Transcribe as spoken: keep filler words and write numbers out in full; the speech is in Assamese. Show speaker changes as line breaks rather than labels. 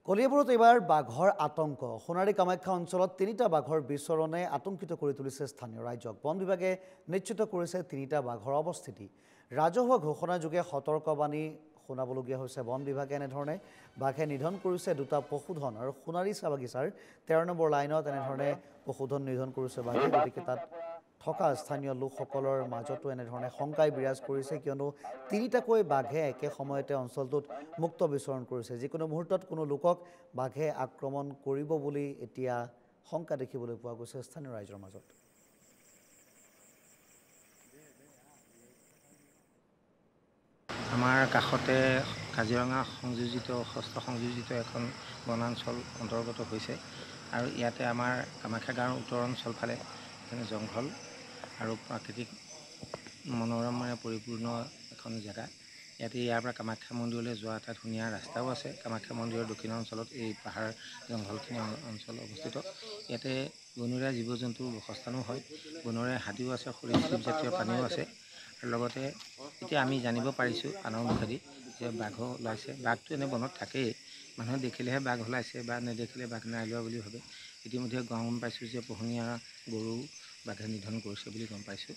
কলিয়াবৰত এইবাৰ বাঘৰ আতংক। সোণাৰী কামাখ্যা অঞ্চলত তিনিটা বাঘৰ বিচৰণে আতংকিত কৰি তুলিছে স্থানীয় ৰাইজক। বন বিভাগে নিশ্চিত কৰিছে তিনিটা বাঘৰ অৱস্থিতি। ৰাজহুৱা ঘোষণা যোগে সতৰ্কবাণী শুনাবলগীয়া হৈছে বন বিভাগে। এনেধৰণে বাঘে নিধন কৰিছে দুটা পশুধন আৰু সোণাৰী চাহ বাগিচাৰ তেৰ নম্বৰ লাইনত এনেধৰণে পশুধন নিধন কৰিছে বাঘে। গতিকে তাত থকা স্থানীয় লোকসকলৰ মাজতো এনেধৰণে শংকাই বিৰাজ কৰিছে, কিয়নো তিনিটাকৈ বাঘে একে সময়তে অঞ্চলটোত মুক্ত বিচৰণ কৰিছে। যিকোনো মুহূৰ্তত কোনো লোকক বাঘে আক্ৰমণ কৰিব বুলি এতিয়া শংকা দেখিবলৈ পোৱা গৈছে স্থানীয় ৰাইজৰ মাজত।
আমাৰ কাষতে কাজিৰঙা সংযোজিত ষষ্ঠ সংযোজিত এখন বনাঞ্চল অন্তৰ্গত হৈছে আৰু ইয়াতে আমাৰ কামাখ্যা গাঁৱৰ উত্তৰ অঞ্চল ফালে এইখিনি জংঘল আৰু প্ৰাকৃতিক মনোৰমেৰে পৰিপূৰ্ণ এখন জেগা। ইয়াতে ইয়াৰ পৰা কামাখ্যা মন্দিৰলৈ যোৱা এটা ধুনীয়া ৰাস্তাও আছে। কামাখ্যা মন্দিৰৰ দক্ষিণ অঞ্চলত এই পাহাৰ জংঘলখিনি অঞ্চল অৱস্থিত। ইয়াতে বনৰীয়া জীৱ জন্তুৰ বাসস্থানো হয়, বনৰীয়া হাতীও আছে, সৰীসৃপ জাতীয় প্ৰাণীও আছে। আৰু লগতে এতিয়া আমি জানিব পাৰিছোঁ আনৰ মুখেদি যে বাঘো ওলাইছে। বাঘটো এনে বনত থাকেই, মানুহে দেখিলেহে বাঘ ওলাইছে বা নেদেখিলে বাঘ নাই ওলোৱা বুলি ভাবে। ইতিমধ্যে গম পাইছোঁ যে পোহনীয়া গৰু বাঘে নিধন কৰিছে বুলি গম পাইছোঁ।